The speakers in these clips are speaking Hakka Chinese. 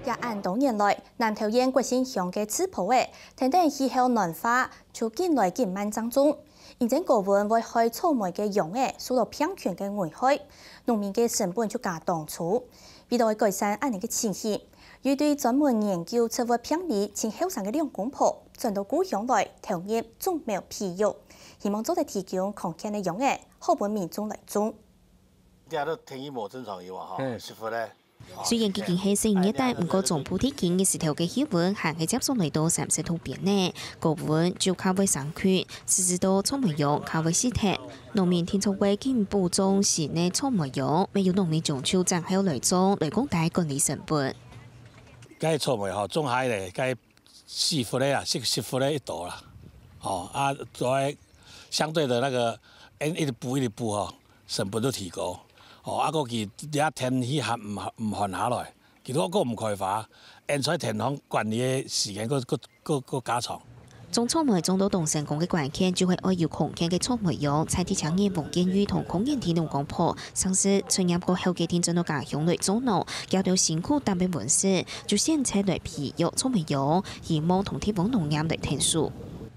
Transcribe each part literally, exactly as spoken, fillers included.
這恁多年來，南投縣國姓鄉个莿葉仔，跈等氣候暖化，就緊來緊慢正種。因為高溫會害草莓个秧仔受到病蟲个危害，農民个成本就加當粗。為了改善恁呢个情形，有一對專門研究植物病理盡後生个兩公婆，轉到故鄉來投入種苗培育，希望做得提供康健个秧仔，好分民眾來種。這都天氣無正常以外，吼，嗯。食物咧。雖然已經係新熱帶，毋過中部地區日時頭个氣溫還係接續來到三十度邊呢，高溫就較會生菌，致使到草莓秧較會死忒。農民定著會緊補種新个草莓秧，乜有農民將就正後來種，來降低管理成本。該草莓吼，種下咧，該死物个啊，死，死物个一多啦。吼，啊，所以相對的那個，一直補一直補吼，成本都提高。吼，啊，過去這天氣還毋，毋寒下來，其實還毋開花，現在天氣管理个時間還，還，還，還加長。種草莓種到當成功个關鍵，就係愛有康健个草莓秧。在地青年王建宇同康健地農公婆，上次出業過後決定轉到家鄉來做農，佢兜辛苦擔个溫室，就選擇來培育草莓秧，希望同地方農業來𢯭手。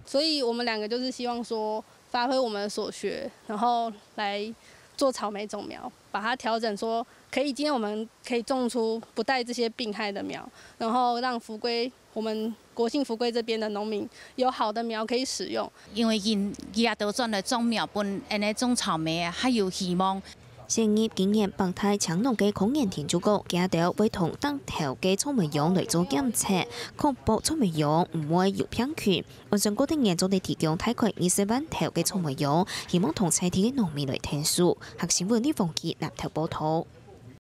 所以我們兩個就是希望說，發揮我們的所學，然後來做草莓種苗，把它調整說，可以，今天我們可以種出不帶這些病害的苗，然後讓福規，我們國姓福規這邊的農民有好的苗可以使用。因為佢，佢也都轉來種苗，分恁呢種草莓啊，還有希望。 先入今年北大青農个康健田就講，佢兜會同頂頭个草莓秧來做檢測，確保草莓秧毋會有病菌。按算過今年做得提供大概二十萬頭个草莓秧，希望同在地个農民來𢯭手。客新聞李鳳琪南投報導。